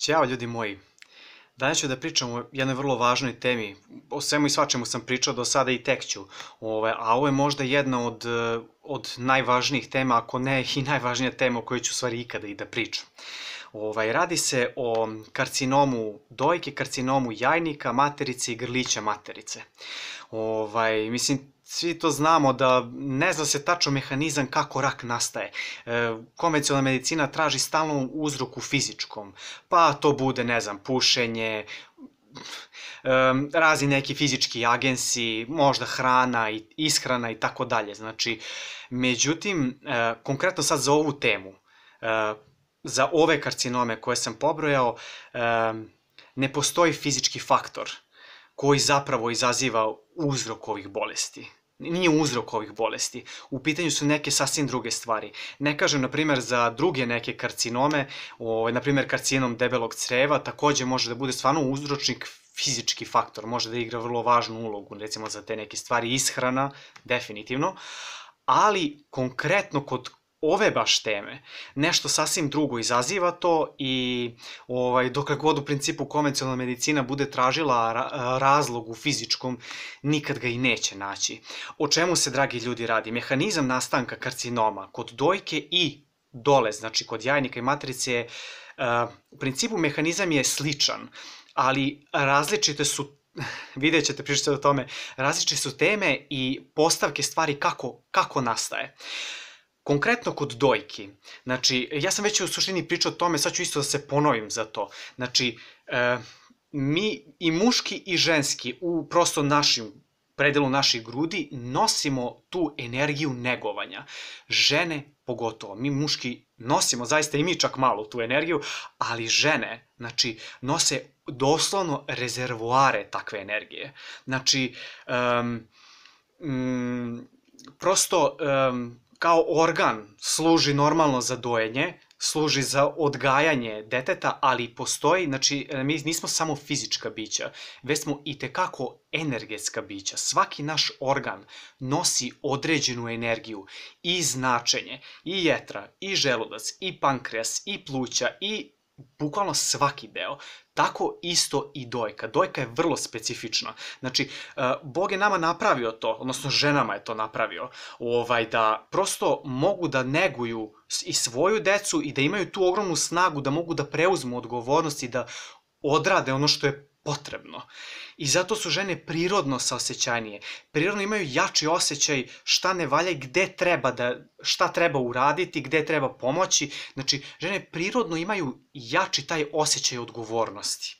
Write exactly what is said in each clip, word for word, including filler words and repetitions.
Ćao ljudi moji, danas ću da pričam o jednoj vrlo važnoj temi, o svemu i svačemu sam pričao do sada i tek ću, Ove, a ovo je možda jedna od, od najvažnijih tema, ako ne i najvažnija tema o kojoj ću u stvari ikada i da pričam. Ovaj, radi se o karcinomu dojke, karcinomu jajnika, materice i grlića materice. Ovaj, mislim, svi to znamo da ne zna se tačno mehanizam kako rak nastaje. E, konvencionalna medicina traži stalno uzrok u fizičkom, pa to bude, ne znam, pušenje, Um, razni neki fizički agensi, možda hrana i ishrana i tako dalje. Znači, međutim, uh, konkretno sad za ovu temu, uh, za ove karcinome koje sam pobrojao, um, ne postoji fizički faktor koji zapravo izaziva uzrok ovih bolesti. Nije uzrok ovih bolesti. U pitanju su neke sasvim druge stvari. Ne kažem, na primjer, za druge neke karcinome, o, na primjer, karcinom debelog creva, takođe može da bude stvarno uzročnik fizički faktor, može da igra vrlo važnu ulogu, recimo za te neke stvari, ishrana, definitivno, ali konkretno kod ove baš teme, nešto sasvim drugo izaziva to i ovaj, dokle god u principu konvencionalna medicina bude tražila ra razlog u fizičkom, nikad ga i neće naći. O čemu se, dragi ljudi, radi? Mehanizam nastanka karcinoma kod dojke i dole, znači kod jajnika i materice, je, uh, u principu mehanizam je sličan, ali različite su, vidjet ćete, pričati o tome, različite su teme i postavke stvari kako, kako nastaje. Konkretno kod dojki, znači, ja sam već u suštini pričao o tome, sad ću isto da se ponovim za to. Znači, e, mi i muški i ženski u prosto našim predelu naših grudi nosimo tu energiju negovanja. Žene pogotovo, mi muški nosimo zaista i mi čak malo tu energiju, ali žene, znači, nose doslovno rezervoare takve energije. Znači, um, um, prosto um, kao organ služi normalno za dojenje, služi za odgajanje deteta, ali postoji, znači, mi nismo samo fizička bića, već smo i tekako energetska bića. Svaki naš organ nosi određenu energiju i značenje, i jetra, i želudac, i pankreas, i pluća, i bukvalno svaki deo. Tako isto i dojka. Dojka je vrlo specifična. Znači, Bog je nama napravio to, odnosno ženama je to napravio, ovaj, da prosto mogu da neguju i svoju decu i da imaju tu ogromnu snagu da mogu da preuzmu odgovornost i da odrade ono što je potrebno. I zato su žene prirodno saosećajnije. Prirodno imaju jači osjećaj šta ne valja i gde treba da, šta treba uraditi, gde treba pomoći. Znači, žene prirodno imaju jači taj osjećaj odgovornosti.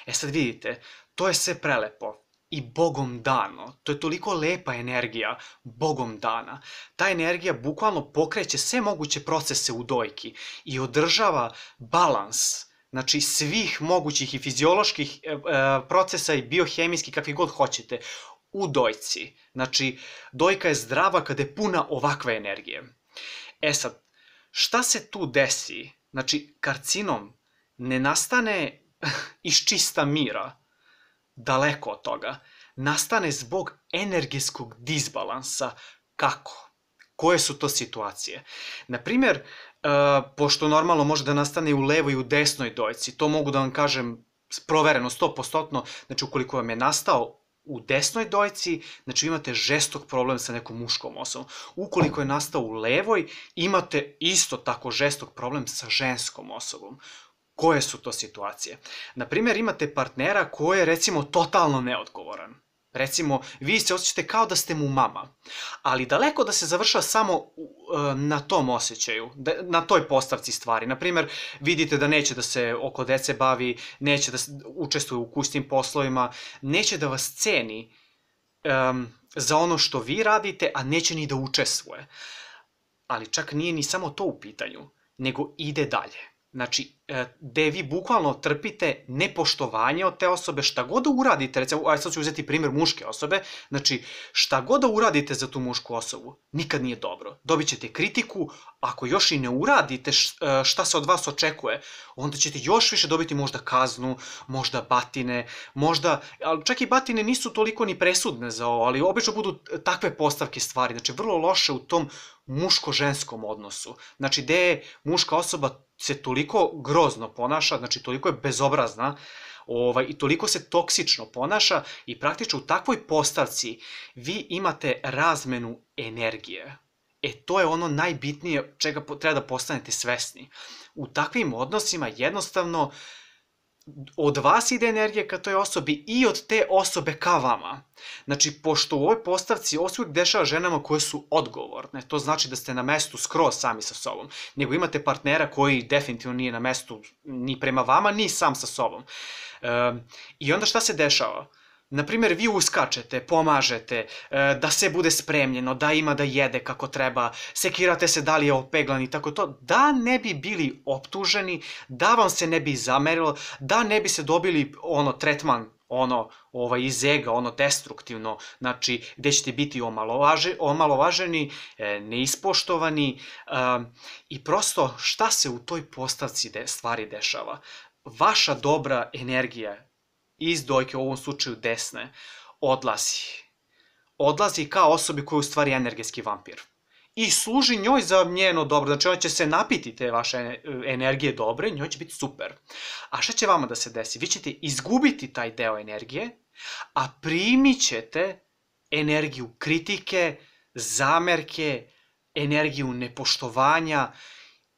E sad vidite, to je sve prelepo i Bogom dano. To je toliko lepa energija, Bogom dana. Ta energija bukvalno pokreće sve moguće procese u dojki i održava balans, znači svih mogućih i fizioloških e, procesa i biohemijskih, kakvi god hoćete, u dojci. Znači, dojka je zdrava kada je puna ovakve energije. E sad, šta se tu desi? Znači, karcinom ne nastane iz čista mira, daleko od toga. Nastane zbog energetskog disbalansa. Kako? Koje su to situacije? Naprimjer, Uh, pošto normalno može da nastane i u levoj i u desnoj dojci, to mogu da vam kažem provereno, sto posto, znači ukoliko vam je nastao u desnoj dojci, znači imate žestok problem sa nekom muškom osobom. Ukoliko je nastao u levoj, imate isto tako žestok problem sa ženskom osobom. Koje su to situacije? Naprimjer, imate partnera koji je, recimo, totalno neodgovoran. Recimo, vi se osjećate kao da ste mu mama, ali daleko da se završava samo na tom osjećaju, na toj postavci stvari. Naprimjer, vidite da neće da se oko dece bavi, neće da učestvuje u kućnim poslovima, neće da vas ceni um, za ono što vi radite, a neće ni da učestvuje. Ali čak nije ni samo to u pitanju, nego ide dalje. Znači, gde vi bukvalno trpite nepoštovanje od te osobe, šta god da uradite, recimo, aj sad ću uzeti primjer muške osobe, znači, šta god da uradite za tu mušku osobu, nikad nije dobro. Dobit ćete kritiku, ako još i ne uradite šta se od vas očekuje, onda ćete još više dobiti možda kaznu, možda batine, možda, ali čak i batine nisu toliko ni presudne za ovo, ali obično budu takve postavke stvari, znači, vrlo loše u tom muško-ženskom odnosu. Znači, gde je muška osoba se toliko grozno ponaša, znači toliko je bezobrazna, ovaj, i toliko se toksično ponaša i praktično u takvoj postavci vi imate razmenu energije. E, to je ono najbitnije čega treba da postanete svesni. U takvim odnosima jednostavno od vas ide energija ka toj osobi i od te osobe ka vama. Znači, pošto u ovoj postavci ovo se uvijek dešava ženama koje su odgovorne, to znači da ste na mestu skroz sami sa sobom, nego imate partnera koji definitivno nije na mestu ni prema vama, ni sam sa sobom. E, I onda šta se dešava? Naprimjer, vi uskačete, pomažete, da se bude spremljeno, da ima da jede kako treba, sekirate se da li je opeglan i tako to, da ne bi bili optuženi, da vam se ne bi zamerilo, da ne bi se dobili ono tretman, ono ovaj, iz ega, ono destruktivno, znači gde ćete biti omalovaže, omalovaženi, neispoštovani i prosto šta se u toj postavci de, stvari dešava? Vaša dobra energija iz dojke, u ovom slučaju desne, odlazi. Odlazi kao osobi koja je u stvari energetski vampir. I služi njoj za njeno dobro, znači ona će se napiti te vaše energije dobre, njoj će biti super. A šta će vama da se desi? Vi ćete izgubiti taj deo energije, a primit ćete energiju kritike, zamerke, energiju nepoštovanja,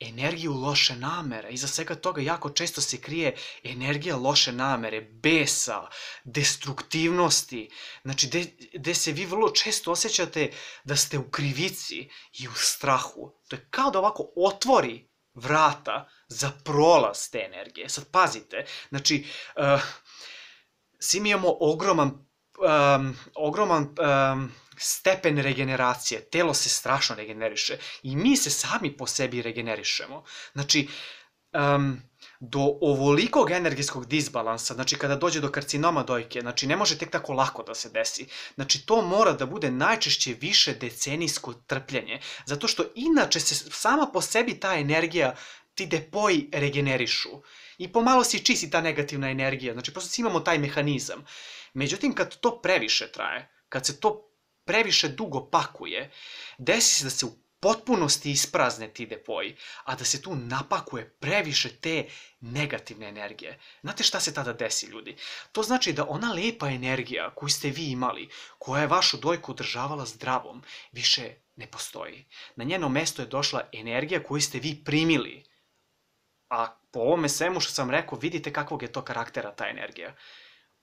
energiju loše namere. Iza svega toga jako često se krije energija loše namere, besa, destruktivnosti, znači gde se vi vrlo često osjećate da ste u krivici i u strahu. To je kao da ovako otvori vrata za prolaz te energije. Sad pazite, znači uh, svi mi imamo ogroman, um, ogroman um, stepen regeneracije, telo se strašno regeneriše i mi se sami po sebi regenerišemo. Znači, um, do ovolikog energetskog disbalansa, znači kada dođe do karcinoma dojke, znači ne može tek tako lako da se desi. Znači to mora da bude najčešće više decenijsko trpljenje, zato što inače se sama po sebi ta energija, ti depoji regenerišu i pomalo se čisti ta negativna energija, znači prosto imamo taj mehanizam. Međutim, kad to previše traje, kad se to previše dugo pakuje, desi se da se u potpunosti isprazne ti depoji, a da se tu napakuje previše te negativne energije. Znate šta se tada desi, ljudi? To znači da ona lepa energija koju ste vi imali, koja je vašu dojku održavala zdravom, više ne postoji. Na njeno mesto je došla energija koju ste vi primili. A po ovome svemu što sam rekao, vidite kakvog je to karaktera ta energija.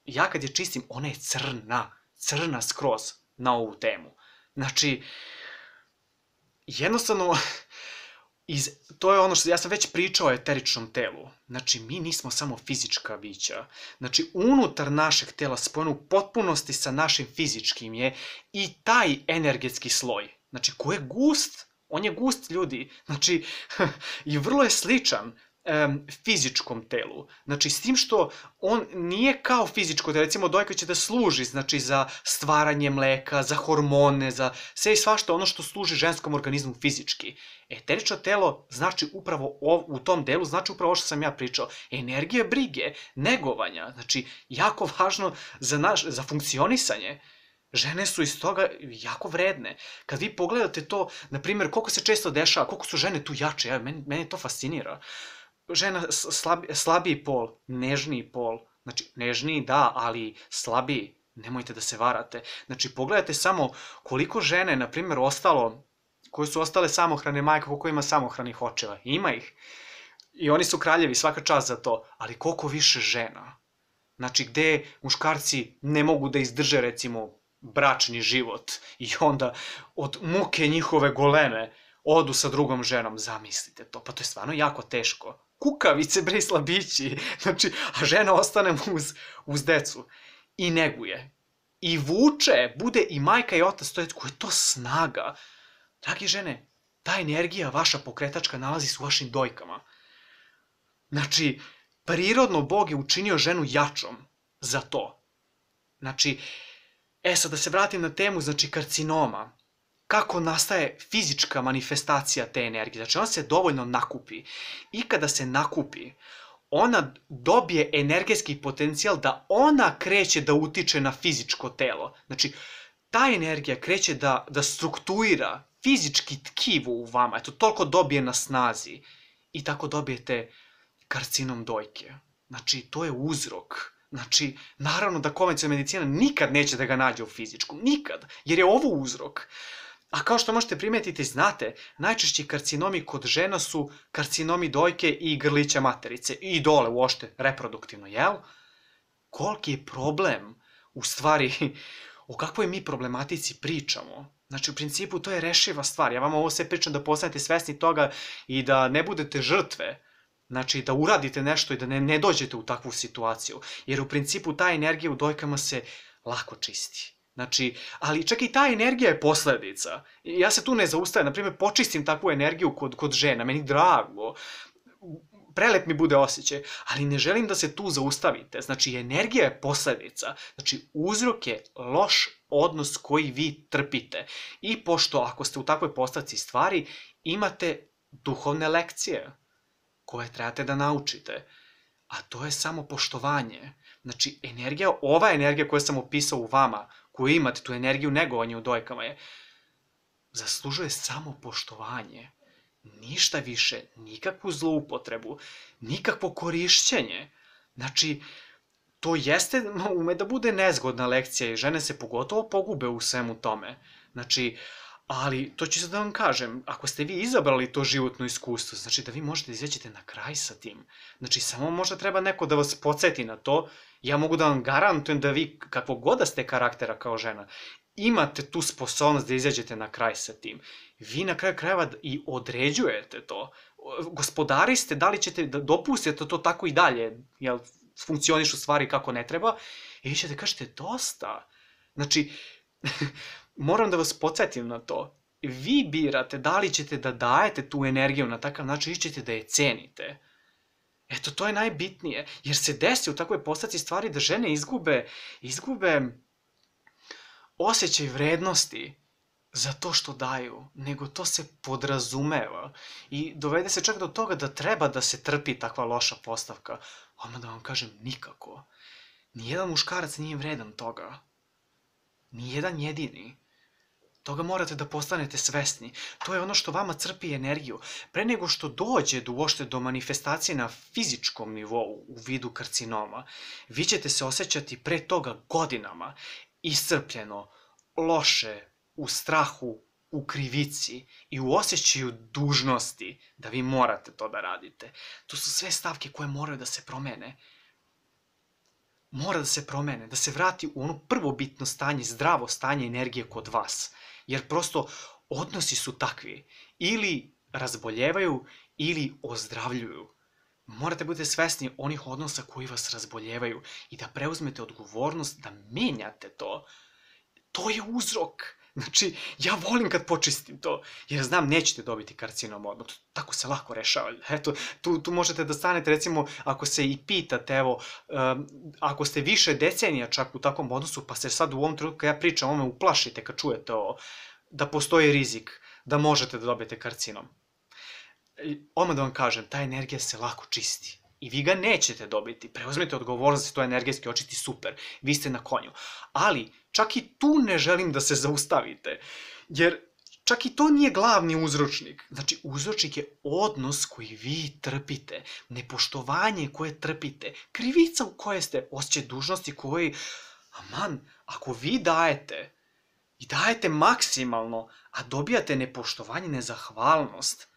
Ja kad je čistim, ona je crna, crna skroz na ovu temu. Znači, jednostavno, iz, to je ono što ja sam već pričao o eteričnom telu. Znači, mi nismo samo fizička bića. Znači, unutar našeg tela, spojeno u potpunosti sa našim fizičkim je i taj energetski sloj. Znači, ko je gust? On je gust, ljudi. Znači, i vrlo je sličan Um, fizičkom telu. Znači, s tim što on nije kao fizičko telo, recimo dojka će da služi, znači, za stvaranje mleka, za hormone, za sve i svašta ono što služi ženskom organizmu fizički. Eterično telo znači upravo u tom delu, znači upravo ovo što sam ja pričao. Energija brige, negovanja, znači, jako važno za, naš, za funkcionisanje. Žene su iz toga jako vredne. Kad vi pogledate to, na primjer, koliko se često dešava, koliko su žene tu jače, ja, meni, meni to fascinira. Žena slabi, slabiji pol, nežniji pol, znači nežniji da, ali slabiji, nemojte da se varate. Znači pogledajte samo koliko žene, na primjer, ostalo, koje su ostale samohrane majke, koliko ima samohranih očeva, ima ih. I oni su kraljevi, svaka čast za to, ali koliko više žena. Znači gde muškarci ne mogu da izdrže, recimo, bračni život i onda od muke njihove goleme odu sa drugom ženom, zamislite to, pa to je stvarno jako teško. Kukavice, bre, slabići, znači, a žena ostane uz, uz decu i neguje. I vuče, bude i majka i otac, to je, koja je to snaga. Dragi žene, ta energija, vaša pokretačka, nalazi se u vašim dojkama. Znači, prirodno Bog je učinio ženu jačom za to. Znači, e sad da se vratim na temu, znači, karcinoma. Kako nastaje fizička manifestacija te energije. Znači, ona se dovoljno nakupi. I kada se nakupi, ona dobije energetski potencijal da ona kreće da utiče na fizičko telo. Znači, ta energija kreće da, da struktuira fizički tkivo u vama. Eto, toliko dobije na snazi. I tako dobijete karcinom dojke. Znači, to je uzrok. Znači, naravno da konvencionalna medicina nikad neće da ga nađe u fizičkom. Nikad. Jer je ovo uzrok. A kao što možete primetiti, znate, najčešći karcinomi kod žena su karcinomi dojke i grlića materice. I dole uošte, reproduktivno, jel? Koliki je problem, u stvari, o kakvoj mi problematici pričamo? Znači, u principu, to je rešiva stvar. Ja vam ovo sve pričam da postanete svesni toga i da ne budete žrtve. Znači, da uradite nešto i da ne, ne dođete u takvu situaciju. Jer u principu ta energija u dojkama se lako čisti. Znači, ali čak i ta energija je posledica. Ja se tu ne zaustavim. Naprimjer, počistim takvu energiju kod, kod žena. Meni drago. Prelep mi bude osjećaj. Ali ne želim da se tu zaustavite. Znači, energija je posledica. Znači, uzrok je loš odnos koji vi trpite. I pošto ako ste u takvoj postavci stvari, imate duhovne lekcije koje trebate da naučite. A to je samo poštovanje. Znači, energija, ova energija koju sam opisao u vama, koju imate, tu energiju negovanja u dojkama je, zaslužuje samo poštovanje. Ništa više, nikakvu zloupotrebu, nikakvo korišćenje. Znači, to jeste, ume da bude nezgodna lekcija i žene se pogotovo pogube u svemu tome. Znači, ali to ću sad da vam kažem, ako ste vi izabrali to životno iskustvo, znači da vi možete da izađete na kraj sa tim. Znači, samo možda treba neko da vas podsjeti na to. Ja mogu da vam garantujem da vi, kakvo god da ste karaktera kao žena, imate tu sposobnost da izađete na kraj sa tim. Vi na kraju krajeva i određujete to. Gospodari ste, da li ćete da dopustite to tako i dalje, jel funkcionišu stvari kako ne treba, i vi ćete kažete dosta. Znači, moram da vas podsjetim na to. Vi birate da li ćete da dajete tu energiju na takav način ili ćete da je cenite. Eto, to je najbitnije. Jer se desi u takvoj postavci stvari da žene izgube, izgube osjećaj vrednosti za to što daju, nego to se podrazumeva. I dovede se čak do toga da treba da se trpi takva loša postavka. Odmah da vam kažem, nikako. Nijedan muškarac nije vredan toga. Nijedan jedini. Toga morate da postanete svesni. To je ono što vama crpi energiju. Pre nego što dođe do uopšte do manifestacije na fizičkom nivou u vidu karcinoma, vi ćete se osjećati pre toga godinama iscrpljeno, loše, u strahu, u krivici i u osjećaju dužnosti da vi morate to da radite. To su sve stavke koje moraju da se promene. Mora da se promene, da se vrati u ono prvobitno stanje, zdravo stanje energije kod vas. Jer prosto odnosi su takvi. Ili razboljevaju, ili ozdravljuju. Morate budete svesni onih odnosa koji vas razboljevaju i da preuzmete odgovornost da menjate to. To je uzrok. Znači, ja volim kad počistim to, jer znam nećete dobiti karcinom odmah. Tako se lako rešava. Eto, tu, tu možete da stanete, recimo, ako se i pitate, evo, um, ako ste više decenija čak u takvom odnosu, pa se sad u ovom trenutku, kad ja pričam, ome uplašite kad čujete ovo, da postoji rizik, da možete da dobijete karcinom. Odmah da vam kažem, ta energija se lako čisti. I vi ga nećete dobiti. Preuzmete odgovornost da se to energetski očisti, super. Vi ste na konju. Ali, čak i tu ne želim da se zaustavite. Jer čak i to nije glavni uzročnik. Znači, uzročnik je odnos koji vi trpite. Nepoštovanje koje trpite. Krivica u kojoj ste, osjećaj dužnosti koji, aman, ako vi dajete i dajete maksimalno, a dobijate nepoštovanje, nezahvalnost,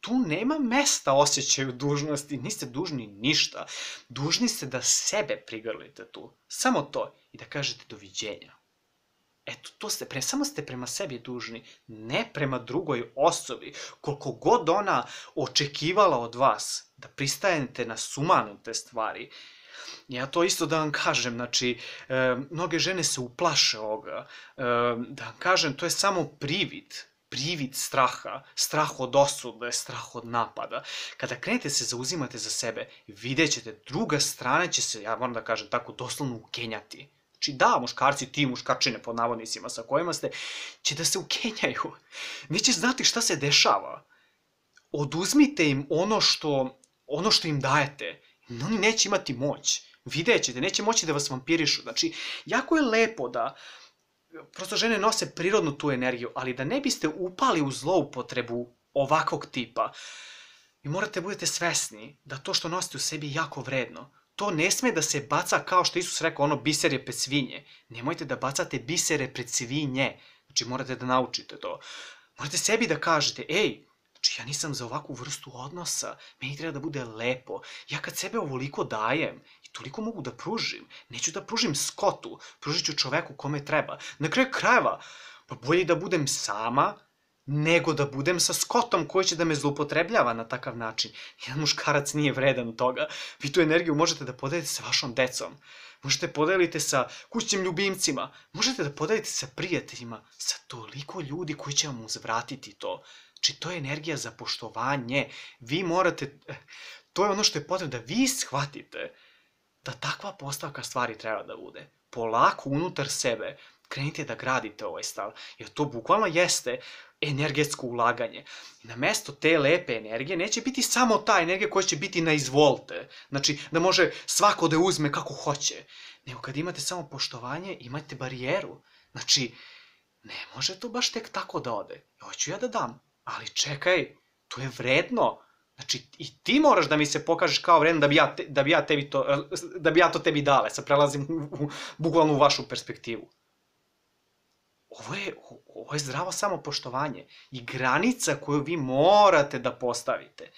tu nema mesta osjećaju dužnosti, niste dužni ništa. Dužni ste da sebe prigrlite tu. Samo to. I da kažete doviđenja. Eto, to ste, pre, samo ste prema sebi dužni, ne prema drugoj osobi. Koliko god ona očekivala od vas da pristajete na sumanute stvari. Ja to isto da vam kažem, znači, e, mnoge žene se uplaše ovoga. E, da vam kažem, to je samo privid. Privid straha, strah od osude, strah od napada. Kada krenete se zauzimate za sebe, vidjet ćete, druga strana će se, ja moram da kažem tako, doslovno ukenjati. Znači da, muškarci, ti muškarčine pod navodnicima sa kojima ste, će da se ukenjaju. Neće znati šta se dešava. Oduzmite im ono što, ono što im dajete. Oni neće imati moć. Vidjet ćete, neće moći da vas vampirišu. Znači, jako je lepo da prosto žene nose prirodnu tu energiju, ali da ne biste upali u zloupotrebu ovakvog tipa. Vi morate budete svesni da to što nosite u sebi je jako vredno. To ne sme da se baca kao što Isus rekao, ono biser je pred svinje. Nemojte da bacate bisere pred svinje. Znači morate da naučite to. Morate sebi da kažete, ej, znači ja nisam za ovakvu vrstu odnosa, meni treba da bude lepo. Ja kad sebe ovoliko dajem i toliko mogu da pružim, neću da pružim Skotu, pružit ću čoveku kome treba. Na kraju krajeva, pa bolje da budem sama, nego da budem sa Skotom koji će da me zloupotrebljava na takav način. Jedan muškarac nije vredan toga. Vi tu energiju možete da podelite sa vašom decom. Možete podelite sa kućnim ljubimcima. Možete da podelite sa prijateljima. Sa toliko ljudi koji će vam uzvratiti to. Znači, to je energija za poštovanje. Vi morate... To je ono što je potrebno da vi shvatite da takva postavka stvari treba da bude. Polako unutar sebe krenite da gradite ovaj stav. Jer to bukvalno jeste energetsko ulaganje. Na mesto te lepe energije neće biti samo ta energija koja će biti na izvolte. Znači, da može svako da uzme kako hoće. Nego kad imate samo poštovanje, imate barijeru. Znači, ne može to baš tek tako da ode. Hoću ja da dam, ali čekaj, to je vredno. Znači, i ti moraš da mi se pokažeš kao vredno da bi ja, te, da bi ja, tebi to, da bi ja to tebi dale. Sad prelazim u, u, bukvalno u vašu perspektivu. Ovo je, ovo je zdravo samopoštovanje i granica koju vi morate da postavite.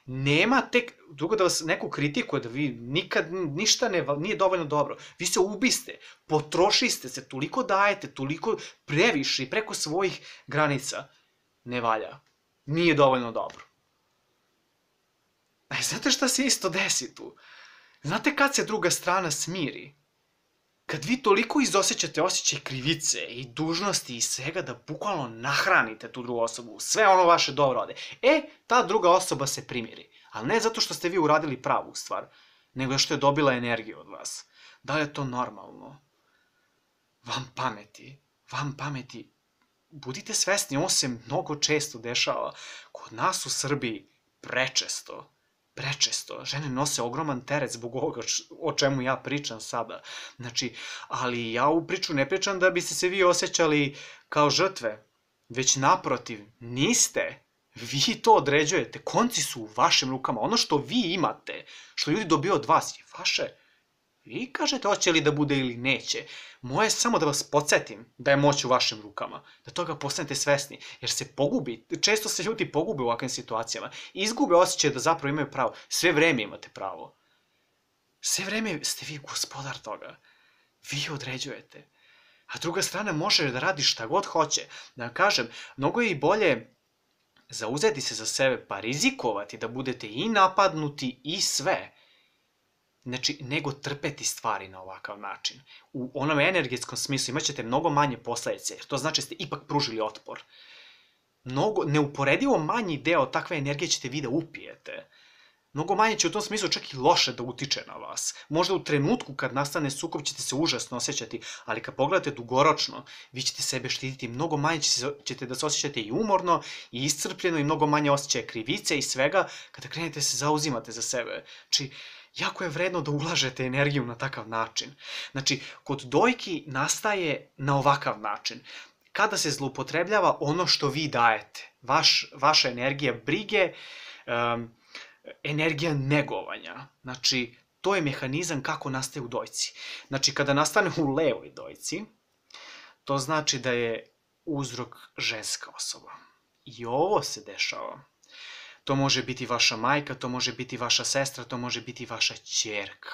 Nema tek, drugo da vas neko kritikuje, da vi nikad ništa ne, nije dovoljno dobro. Vi se ubiste, potrošiste se, toliko dajete, toliko previše i preko svojih granica. Ne valja. Nije dovoljno dobro. A znate šta se isto desi tu? Znate kad se druga strana smiri? Kad vi toliko izosećate osjećaj krivice i dužnosti i svega da bukvalno nahranite tu drugu osobu, sve ono vaše dobro ode, e, ta druga osoba se primiri. Ali ne zato što ste vi uradili pravu stvar, nego što je dobila energiju od vas. Da li je to normalno? Vam pameti, vam pameti. Budite svesni, ovo se mnogo često dešava. Kod nas u Srbiji prečesto. Prečesto. Žene nose ogroman teret zbog ovoga o čemu ja pričam sada. Znači, ali ja u priču ne pričam da biste se vi osjećali kao žrtve, već naprotiv, niste. Vi to određujete. Konci su u vašim rukama. Ono što vi imate, što ljudi dobiju od vas je vaše. Vi kažete hoće li da bude ili neće. Moje je samo da vas podsjetim da je moć u vašim rukama. Da toga postanete svesni. Jer se pogubi, često se ljudi pogube u ovakvim situacijama. Izgube osjećaj da zapravo imaju pravo. Sve vreme imate pravo. Sve vreme ste vi gospodar toga. Vi određujete. A druga strana može da radi šta god hoće. Da vam kažem, mnogo je i bolje zauzeti se za sebe pa rizikovati da budete i napadnuti i sve. Znači, nego trpeti stvari na ovakav način. U onom energetskom smislu imat ćete mnogo manje posledice, jer to znači da ste ipak pružili otpor. Mnogo, neuporedivo manji deo takve energije ćete vi da upijete. Mnogo manje će u tom smislu čak i loše da utiče na vas. Možda u trenutku kad nastane sukob ćete se užasno osjećati, ali kad pogledate dugoročno, vi ćete sebe štititi, mnogo manje ćete da se osjećate i umorno, i iscrpljeno, i mnogo manje osjećaja krivice i svega, kada krenete se zauzimate za sebe. Znači, jako je vredno da ulažete energiju na takav način. Znači, kod dojki nastaje na ovakav način. Kada se zloupotrebljava ono što vi dajete, vaš, vaša energija brige, um, energija negovanja. Znači, to je mehanizam kako nastaje u dojci. Znači, kada nastane u levoj dojci, to znači da je uzrok ženska osoba. I ovo se dešava. To može biti vaša majka, to može biti vaša sestra, to može biti vaša ćerka.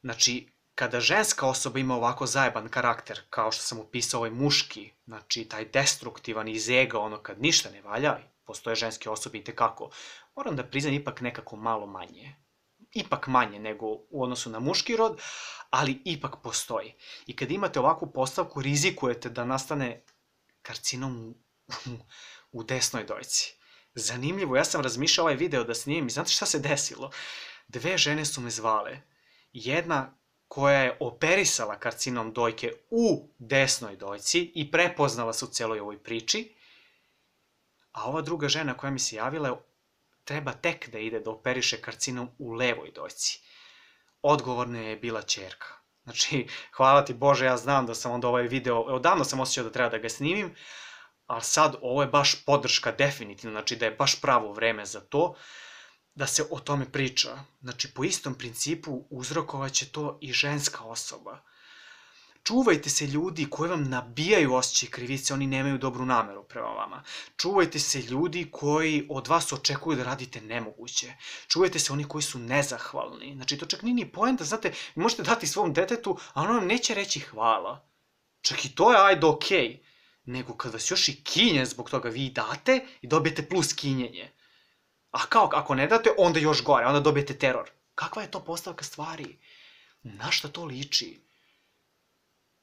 Znači, kada ženska osoba ima ovako zajeban karakter, kao što sam opisao ovaj muški, znači taj destruktivan iz ega, ono kad ništa ne valja, postoje ženske osobe i tekako, moram da priznam ipak nekako malo manje. Ipak manje nego u odnosu na muški rod, ali ipak postoji. I kad imate ovakvu postavku, rizikujete da nastane karcinom u, u desnoj dojci. Zanimljivo, ja sam razmišljao ovaj video da snimim i znate šta se desilo? Dve žene su me zvale. Jedna koja je operisala karcinom dojke u desnoj dojci i prepoznala se u celoj ovoj priči, a ova druga žena koja mi se javila treba tek da ide da operiše karcinom u levoj dojci. Odgovorna je bila ćerka. Znači, hvala ti Bože, ja znam da sam onda ovaj video, odavno sam osjećao da treba da ga snimim, ali sad ovo je baš podrška definitivno, znači da je baš pravo vreme za to, da se o tome priča. Znači, po istom principu uzrokovaće to i ženska osoba. Čuvajte se ljudi koji vam nabijaju osjećaj krivice, oni nemaju dobru nameru prema vama. Čuvajte se ljudi koji od vas očekuju da radite nemoguće. Čuvajte se oni koji su nezahvalni. Znači, to čak nije ni poenta, znate, vi možete dati svom detetu, a ono vam neće reći hvala. Čak i to je ajde okej. Nego kad vas još i kinje zbog toga vi date i dobijete plus kinjenje. A kao, ako ne date, onda još gore, onda dobijete teror. Kakva je to postavka stvari? Na šta to liči?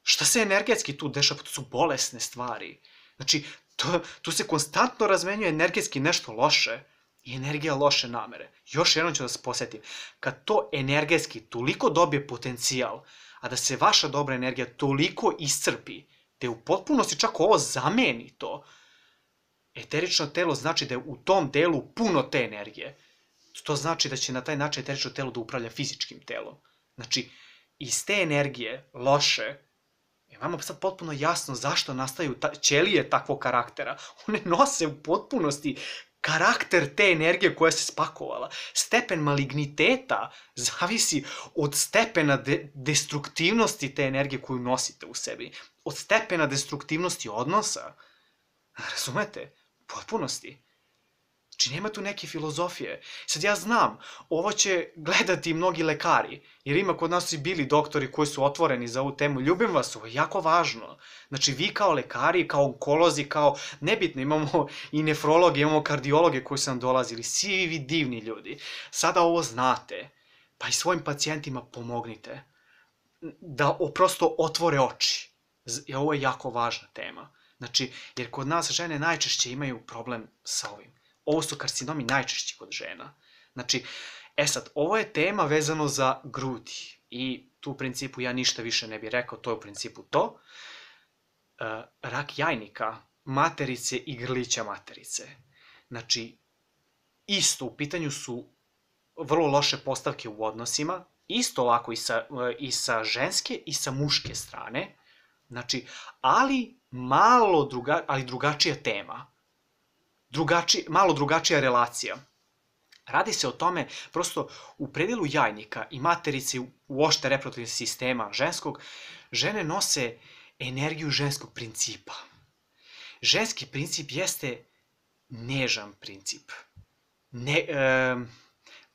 Šta se energetski tu dešava? To su bolesne stvari. Znači, to, tu se konstantno razmenjuje energetski nešto loše i energija loše namere. Još jednom ću da se posjetim. Kad to energetski toliko dobije potencijal, a da se vaša dobra energija toliko iscrpi, te u potpunosti čak ovo zameni to, eterično telo znači da je u tom delu puno te energije. To znači da će na taj način eterično telo da upravlja fizičkim telom. Znači, iz te energije loše, je vama sad potpuno jasno zašto nastaju ćelije takvog karaktera. One nose u potpunosti karakter te energije koja se spakovala. Stepen maligniteta zavisi od stepena de destruktivnosti te energije koju nosite u sebi. Od stepena destruktivnosti odnosa. Razumete? Potpunosti. Znači, nema tu neke filozofije. Sad ja znam, ovo će gledati mnogi lekari, jer ima kod nas i bili doktori koji su otvoreni za ovu temu. Ljubim vas, ovo je jako važno. Znači, vi kao lekari, kao onkolozi, kao nebitno, imamo i nefrologe, imamo kardiologe koji su nam dolazili, svi vi divni ljudi. Sada ovo znate, pa i svojim pacijentima pomognite da prosto otvore oči. Ovo je jako važna tema. Znači, jer kod nas žene najčešće imaju problem sa ovim. Ovo su karcinomi najčešći kod žena. Znači, e sad, ovo je tema vezano za grudi. I tu u principu ja ništa više ne bih rekao, to je u principu to. E, rak jajnika, materice i grlića materice. Znači, isto u pitanju su vrlo loše postavke u odnosima, isto ovako i sa, i sa ženske i sa muške strane. Znači, ali malo druga, ali drugačija tema. Drugači, malo drugačija relacija. Radi se o tome, prosto u predelu jajnika i materice uošte reproduktivnog sistema ženskog, žene nose energiju ženskog principa. Ženski princip jeste nežan princip. Ne, e,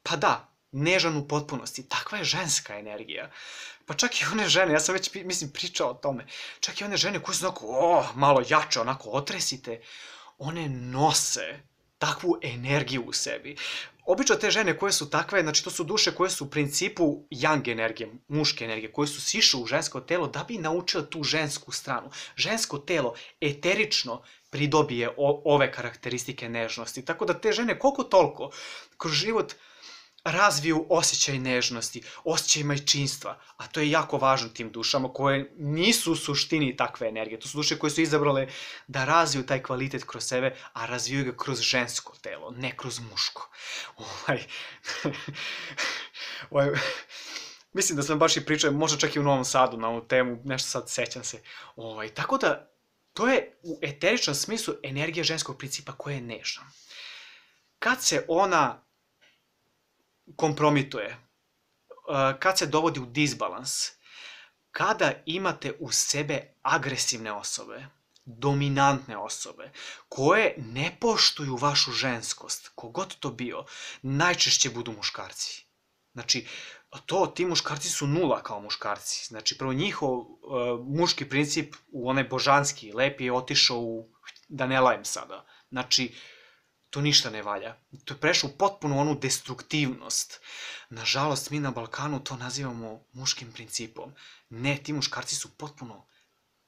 pa da, nežan u potpunosti. Takva je ženska energija. Pa čak i one žene, ja sam već, mislim, pričao o tome, čak i one žene koje su onako, oh, malo jače, onako otresite, one nose takvu energiju u sebi. Obično te žene koje su takve, znači to su duše koje su u principu yang energije, muške energije, koje su sišle u žensko telo da bi naučile tu žensku stranu. Žensko telo eterično pridobije ove karakteristike nežnosti. Tako da te žene koliko toliko kroz život razviju osjećaj nežnosti, osjećaj majčinstva, a to je jako važno tim dušama koje nisu u suštini takve energije. To su duše koje su izabrale da razviju taj kvalitet kroz sebe, a razviju ga kroz žensko telo, ne kroz muško. Ovaj... ovaj... Mislim da sam baš i pričao, možda čak i u Novom Sadu na ovu temu, nešto sad sećam se. Ovaj... Tako da, to je u eteričnom smislu energija ženskog principa koja je nežna. Kad se ona kompromituje, kad se dovodi u disbalans, kada imate u sebe agresivne osobe, dominantne osobe, koje ne poštuju vašu ženskost, kogod to bio, najčešće budu muškarci. Znači, to, ti muškarci su nula kao muškarci. Znači, prvo njihov uh, muški princip, u onaj božanski, lep je otišao u, da ne lajem sada. Znači, to ništa ne valja. To je prešlo u potpuno onu destruktivnost. Nažalost, mi na Balkanu to nazivamo muškim principom. Ne, ti muškarci su potpuno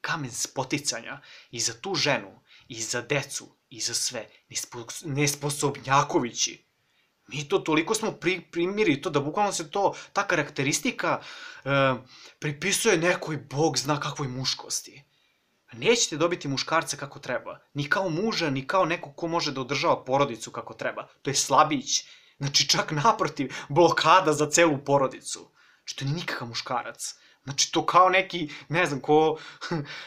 kamen spoticanja i za tu ženu, i za decu, i za sve. Nesposobnjakovići. Mi to toliko smo pri, primiri to da bukvalno se to, ta karakteristika e, pripisuje nekoj bog zna kakvoj muškosti. Nećete dobiti muškarca kako treba. Ni kao muža, ni kao neko ko može da održava porodicu kako treba. To je slabić. Znači čak naprotiv, blokada za celu porodicu. Znači to nije nikakav muškarac. Znači to kao neki, ne znam, ko,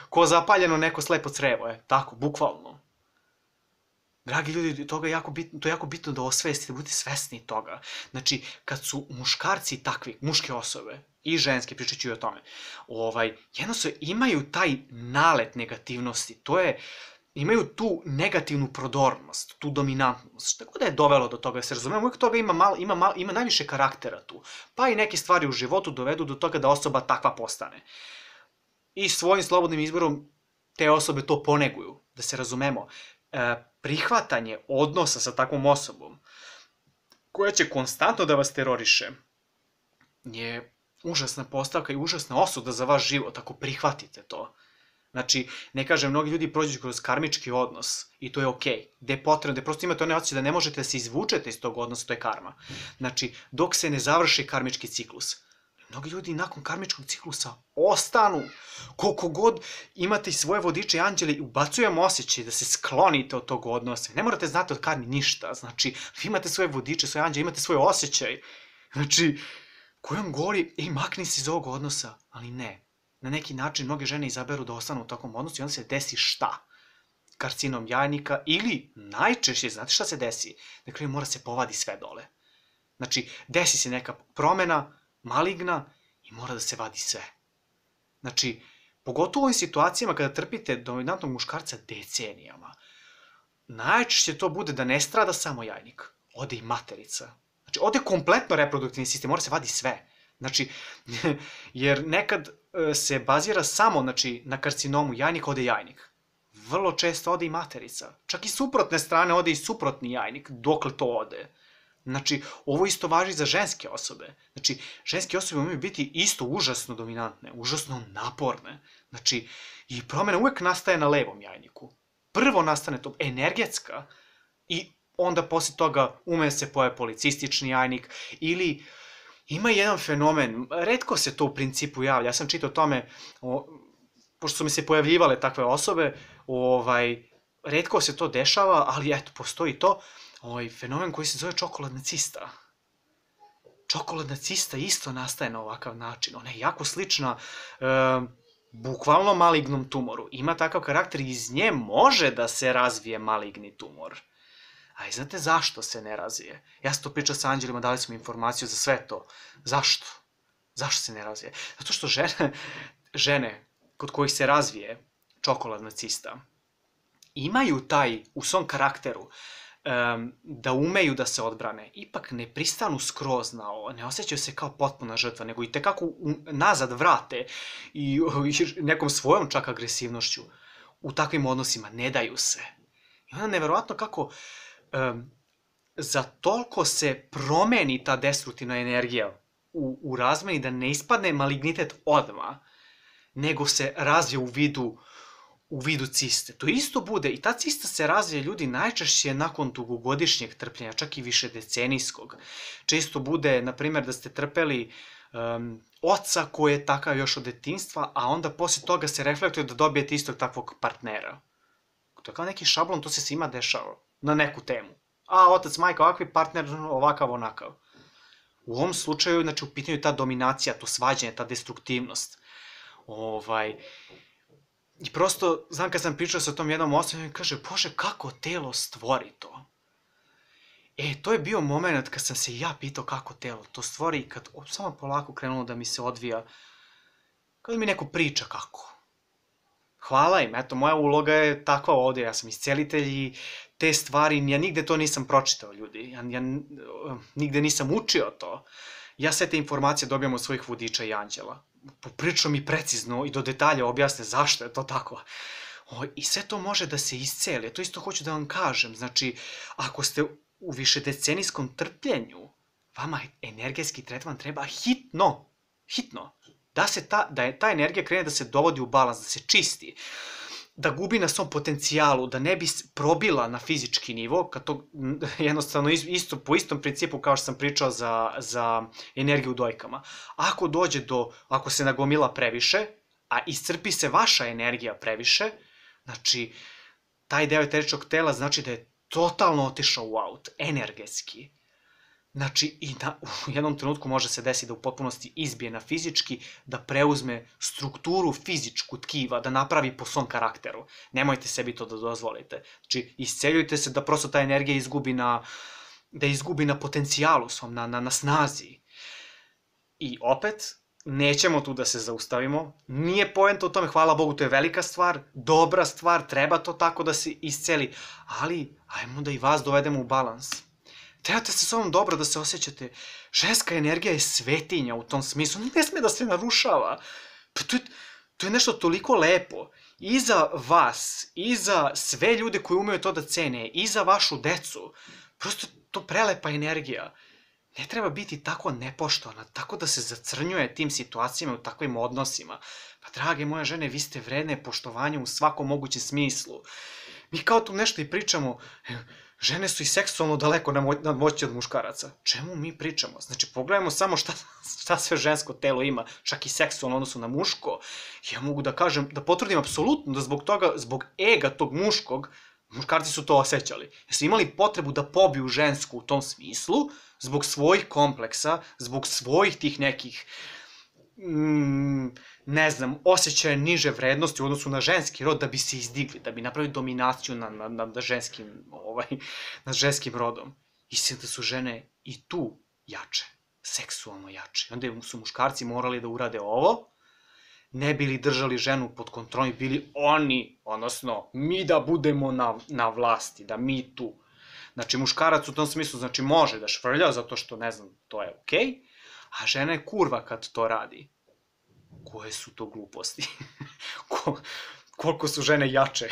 ko zapaljeno neko slepo crevo, je. Tako, bukvalno. Dragi ljudi, toga je jako bitno, to je jako bitno da osvestite, da budete svesni toga. Znači, kad su muškarci takvi, muške osobe i ženske, pričat ću i o tome, ovaj, jednostavno imaju taj nalet negativnosti, to je, imaju tu negativnu prodornost, tu dominantnost, šta god da je dovelo do toga, se razumemo, uvijek toga ima, malo, ima, malo, ima najviše karaktera tu, pa i neke stvari u životu dovedu do toga da osoba takva postane. I svojim slobodnim izborom te osobe to poneguju, da se razumemo. E, prihvatanje odnosa sa takvom osobom, koja će konstantno da vas teroriše, je užasna postavka i užasna osuda za vaš život, ako prihvatite to. Znači, ne kažem, mnogi ljudi prođu kroz karmički odnos i to je okej. Gde je potrebno, gde prosto imate one osjećaje da ne možete da se izvučete iz tog odnosa, to je karma. Znači, dok se ne završi karmički ciklus. Mnogi ljudi nakon karmičkog ciklusa ostanu, koliko god imate i svoje vodiče i anđele i ubacujemo osjećaj da se sklonite od tog odnosa. Ne morate znati od karmi ništa, znači, vi imate svoje vodiče, svoje anđele, imate svoj osjećaj. Znači, koji vam govori, ej, makni se iz ovog odnosa, ali ne. Na neki način mnoge žene izaberu da ostanu u takvom odnosu i onda se desi šta? Karcinom jajnika ili najčešće, znate šta se desi? Dakle, mora se povadi sve dole. Znači, desi se neka promena, maligna i mora da se vadi sve. Znači, pogotovo u ovim situacijama kada trpite dominantnog muškarca decenijama, najčešće to bude da ne strada samo jajnik, ode i materica. Znači, ode kompletno reproduktivni sistem, mora se vadi sve. Znači, jer nekad se bazira samo, znači, na karcinomu jajnika, ode jajnik. Vrlo često ode i materica. Čak i suprotne strane ode i suprotni jajnik, dokle to ode. Znači, ovo isto važi za ženske osobe. Znači, ženske osobe imaju biti isto užasno dominantne, užasno naporne. Znači, i promjena uvek nastaje na levom jajniku. Prvo nastane to energetska i onda posle toga ume se pojavi policistični jajnik ili ima jedan fenomen, retko se to u principu javlja, ja sam čitao o tome, o, pošto su mi se pojavljivale takve osobe, ovaj, retko se to dešava, ali eto, postoji to, ovaj fenomen koji se zove čokoladna cista. Čokoladna cista isto nastaje na ovakav način. Ona je jako slična e, bukvalno malignom tumoru. Ima takav karakter i iz nje može da se razvije maligni tumor. A i znate zašto se ne razvije? Ja sam to pričao sa anđelima, dali smo informaciju za sve to. Zašto? Zašto se ne razvije? Zato što žene, žene kod kojih se razvije čokoladna cista imaju taj u svom karakteru Um, da umeju da se odbrane, ipak ne pristanu skroz na ovo, ne osjećaju se kao potpuna žrtva, nego i tekako nazad vrate i, i nekom svojom čak agresivnošću u takvim odnosima, ne daju se. I onda neverovatno kako um, za toliko se promeni ta destruktivna energija u, u razmeni da ne ispadne malignitet odmah, nego se razvije u vidu u vidu ciste. To isto bude, i ta cista se razvije ljudi najčešće nakon dugogodišnjeg trpljenja, čak i više decenijskog. Često bude, na primjer, da ste trpeli um, oca koji je takav još od detinjstva, a onda posle toga se reflektuje da dobijete istog takvog partnera. To je kao neki šablon, to se svima dešava na neku temu. A otac, majka, ovakvi partner, ovakav, onakav. U ovom slučaju, znači, u pitanju ta dominacija, to svađanje, ta destruktivnost. Ovaj... I prosto, znam kad sam pričao sa tom jednom osobom, i kaže, Bože, kako telo stvori to? E, to je bio moment kad sam se ja pitao kako telo to stvori i kad samo polako krenulo da mi se odvija, kada mi neko priča kako. Hvala im, eto, moja uloga je takva ovdje, ja sam iscelitelj i te stvari, ja nigde to nisam pročitao, ljudi, ja, ja nigde nisam učio to. Ja sve te informacije dobijam od svojih vodiča i anđela. Poprično mi precizno i do detalja objasne zašto je to tako. O, i sve to može da se isceli. To isto hoću da vam kažem. Znači, ako ste u višedecenijskom trpljenju, vama energetski tretman treba hitno, hitno, da, se ta, da je ta energija krene da se dovodi u balans, da se čisti, da gubi na svom potencijalu, da ne bi probila na fizički nivo, kad to jednostavno isto, po istom principu kao što sam pričao za, za energiju u dojkama. Ako dođe do, ako se nagomila previše, a iscrpi se vaša energija previše, znači, taj deo eteričnog tela znači da je totalno otišao u aut, energetski. Znači, i na, u jednom trenutku može se desiti da u potpunosti izbije na fizički, da preuzme strukturu fizičku tkiva, da napravi po svom karakteru. Nemojte sebi to da dozvolite. Znači, isceljujte se da prosto ta energija izgubi na, da izgubi na potencijalu svom, na, na, na snazi. I opet, nećemo tu da se zaustavimo. Nije poenta o tome, hvala Bogu, to je velika stvar, dobra stvar, treba to tako da se isceli, ali ajmo da i vas dovedemo u balans. Trebate se s ovom dobro da se osjećate. Ženska energija je svetinja u tom smislu. Ne sme da se narušava. Pa to je, to je nešto toliko lepo. I za vas, i za sve ljude koji umeju to da cene, i za vašu decu. Prosto to prelepa energija. Ne treba biti tako nepoštovana, tako da se zacrnjuje tim situacijama u takvim odnosima. Pa drage moje žene, vi ste vredne poštovanja u svakom mogućem smislu. Mi kao tu nešto i pričamo, žene su i seksualno daleko nadmoćnije od muškaraca. Čemu mi pričamo? Znači, pogledajmo samo šta, šta sve žensko telo ima, čak i seksualno odnosu na muško. Ja mogu da kažem, da potvrdim apsolutno da zbog toga, zbog ega tog muškog, muškarci su to osjećali. Jer su imali potrebu da pobiju žensku u tom smislu, zbog svojih kompleksa, zbog svojih tih nekih, mm, ne znam, osjećaja niže vrednosti u odnosu na ženski rod, da bi se izdigli, da bi napravili dominaciju nad, nad, nad, ženskim, ovaj, nad ženskim rodom. Istina da su žene i tu jače, seksualno jače. Onda su muškarci morali da urade ovo, ne bili držali ženu pod kontrolom i bili oni, odnosno mi da budemo na, na vlasti, da mi tu. Znači, muškarac u tom smislu, znači, može da švrlja, zato što, ne znam, to je okej, a žena je kurva kad to radi. Koje su to gluposti? Ko, koliko su žene jače,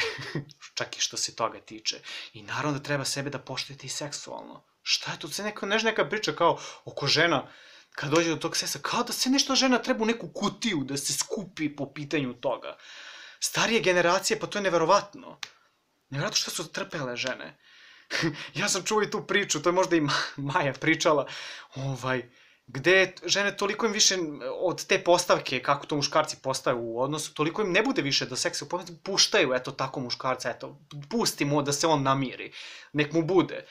čak i što se toga tiče. I naravno da treba sebe da poštujete i seksualno. Šta je to? Se neka, neš neka priča kao oko žena, kad dođe do tog seksa, kao da se nešto žena treba u neku kutiju da se skupi po pitanju toga. Starije generacije, pa to je neverovatno. Neverovatno što su trpele žene. Ja sam čuo i tu priču, to je možda i Maja pričala, ovaj, gde žene toliko im više od te postavke, kako to muškarci postaju u odnosu, toliko im ne bude više do seksa, puštaju, eto tako muškarca, eto, pusti mu da se on namiri, nek mu bude.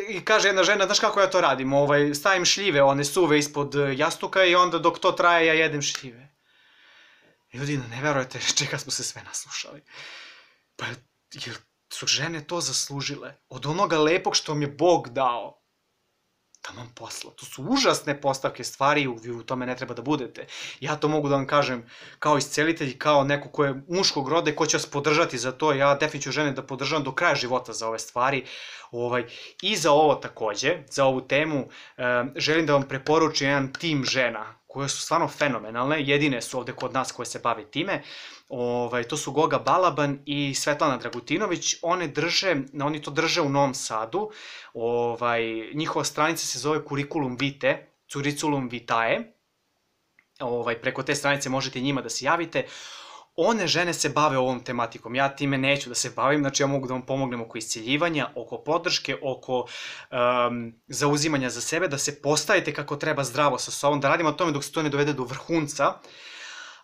I kaže jedna žena, znaš kako ja to radim, ovaj, stavim šljive, one suve ispod jastuka i onda dok to traje ja jedem šljive. Ljudi, ne verujete čega smo se sve naslušali. Pa, jer su žene to zaslužile. Od onoga lepog što vam je Bog dao. Taman posla. To su užasne postavke stvari, vi u tome ne treba da budete. Ja to mogu da vam kažem kao iscelitelj, kao neko ko je muškog roda i ko će vas podržati za to. Ja definitivno žene da podržavam do kraja života za ove stvari. Ovaj, I za ovo takođe, za ovu temu, eh, želim da vam preporučim jedan tim žena koje su stvarno fenomenalne, jedine su ovde kod nas koje se bave time. Ovaj, to su Goga Balaban i Svetlana Dragutinović. One drže, oni to drže u Novom Sadu. Ovaj, njihova stranica se zove Curriculum Vitae, Curriculum Vitae. Ovaj, preko te stranice možete njima da se javite. One žene se bave ovom tematikom, ja time neću da se bavim, znači ja mogu da vam pomognem oko isceljivanja, oko podrške, oko um, zauzimanja za sebe, da se postavite kako treba zdravo sa sobom, da radimo o tome dok se to ne dovede do vrhunca,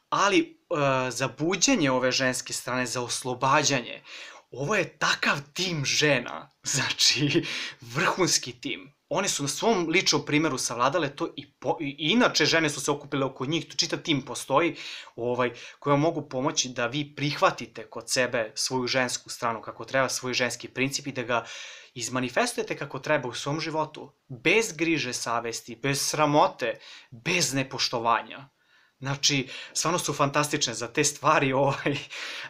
ali uh, za buđenje ove ženske strane, za oslobađanje, ovo je takav tim žena, znači vrhunski tim. One su na svom ličnom primjeru savladale to i, po, i inače žene su se okupile oko njih, to čitav tim postoji ovaj, koji vam mogu pomoći da vi prihvatite kod sebe svoju žensku stranu kako treba, svoj ženski princip i da ga izmanifestujete kako treba u svom životu, bez griže savesti, bez sramote, bez nepoštovanja. Znači, stvarno su fantastične za te stvari, ovaj.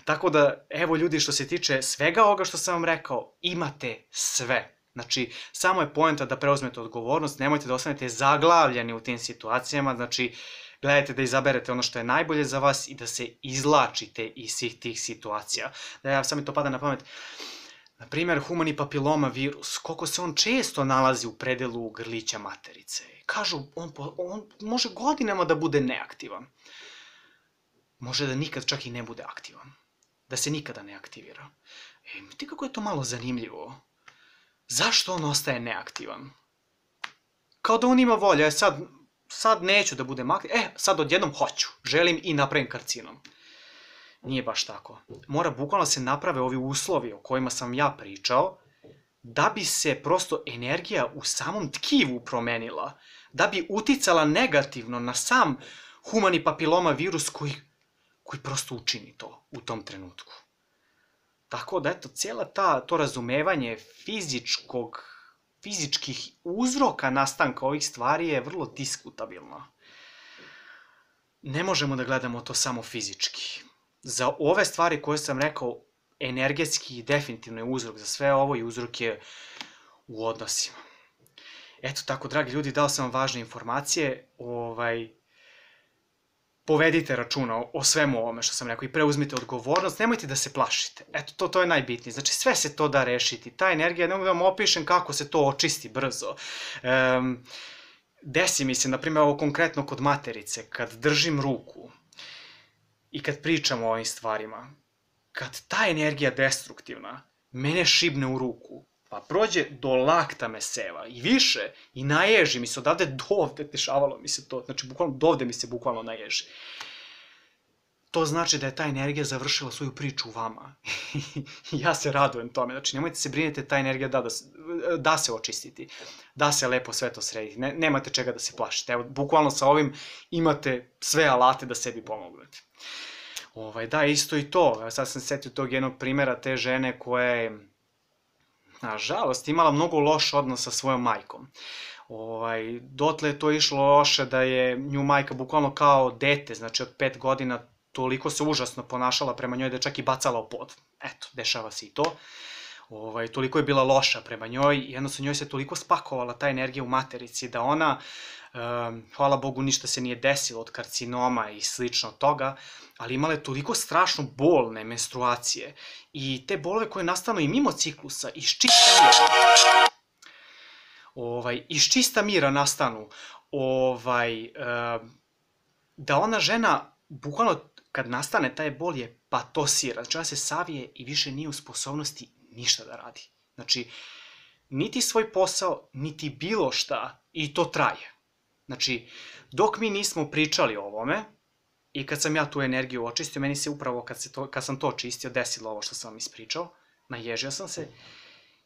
Tako da, evo ljudi, što se tiče svega ovoga što sam vam rekao, imate sve. Znači, samo je poenta da preuzmete odgovornost, nemojte da ostanete zaglavljeni u tim situacijama, znači, gledajte da izaberete ono što je najbolje za vas i da se izlačite iz svih tih situacija. Da ja sam mi to pada na pamet. Na primjer, humani papiloma virus, koliko se on često nalazi u predelu grlića materice. Kažu, on, on može godinama da bude neaktivan. Može da nikad čak i ne bude aktivan. Da se nikada ne aktivira. E, ti kako je to malo zanimljivo. Zašto on ostaje neaktivan? Kao da on ima volja, e sad, sad neću da budem aktivan, e, sad odjednom hoću, želim i napravim karcinom. Nije baš tako. Mora bukvalno se naprave ovi uslovi o kojima sam ja pričao, da bi se prosto energija u samom tkivu promenila, da bi uticala negativno na sam humani papiloma virus koji, koji prosto učini to u tom trenutku. Tako da, eto, cijela ta, to razumevanje fizičkog, fizičkih uzroka nastanka ovih stvari je vrlo diskutabilno. Ne možemo da gledamo to samo fizički. Za ove stvari koje sam rekao, energetski definitivno je uzrok za sve ovo i uzrok je u odnosima. Eto tako, dragi ljudi, dao sam vam važne informacije, ovaj, povedite računa o, o svemu ovome što sam rekao i preuzmite odgovornost, nemojte da se plašite. Eto, to, to je najbitnije. Znači, sve se to da rešiti. Ta energija, ne mogu da vam opišem kako se to očisti brzo. Um, desi mi se, na primjer, ovo konkretno kod materice, kad držim ruku i kad pričam o ovim stvarima, kad ta energija destruktivna mene šibne u ruku, pa prođe do lakta me seva i više, i naježi mi se odavde dovde, dešavalo mi se to, znači bukvalno dovde mi se bukvalno naježi. To znači da je ta energija završila svoju priču u vama. Ja se radujem tome, znači nemojte se brinete, ta energija da, da, da se očistiti, da se lepo sve to srediti, ne, nemate čega da se plašite. Evo, bukvalno sa ovim imate sve alate da sebi pomognete. Ovaj, da, isto i to, sad sam setio tog jednog primjera te žene koja je, nažalost, imala mnogo loš odnos sa svojom majkom. Ovaj, dotle je to išlo loše da je nju majka bukvalno kao dete, znači od pet godina, toliko se užasno ponašala prema njoj da je čak i bacala u pod. Eto, dešava se i to. Ovaj, toliko je bila loša prema njoj i jednostavno njoj se toliko spakovala ta energija u materici da ona, um, hvala Bogu, ništa se nije desilo od karcinoma i slično od toga, ali imala je toliko strašno bolne menstruacije i te bolove koje nastanu i mimo ciklusa, iz čista mira, ovaj, iz čista mira nastanu, ovaj, um, da ona žena, bukvalno kad nastane taj bol je patosira, znači ona se savije i više nije u sposobnosti ništa da radi. Znači, niti svoj posao, niti bilo šta, i to traje. Znači, dok mi nismo pričali o ovome, i kad sam ja tu energiju očistio, meni se upravo kad, se to, kad sam to očistio, desilo ovo što sam vam ispričao, naježio sam se,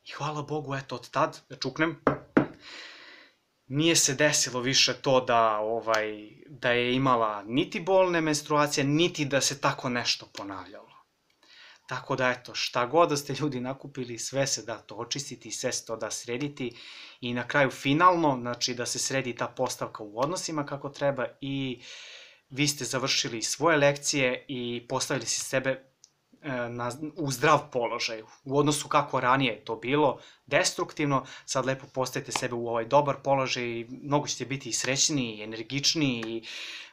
i hvala Bogu, eto, od tad, da čuknem, nije se desilo više to da, ovaj, da je imala niti bolne menstruacije, niti da se tako nešto ponavljalo. Tako da, eto, šta god da ste ljudi nakupili, sve se da to očistiti, sve se to da srediti i na kraju finalno, znači da se sredi ta postavka u odnosima kako treba i vi ste završili svoje lekcije i postavili se sebe na, u zdrav položaj. U odnosu kako ranije je to bilo, destruktivno, sad lepo postavite sebe u ovaj dobar položaj i mnogo ćete biti i srećniji, i energičniji i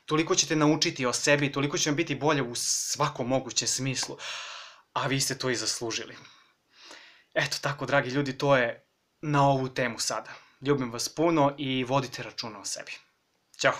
toliko ćete naučiti o sebi, toliko će vam biti bolje u svakom mogućem smislu. A vi ste to i zaslužili. Eto tako, dragi ljudi, to je na ovu temu sada. Ljubim vas puno i vodite računa o sebi. Ćao!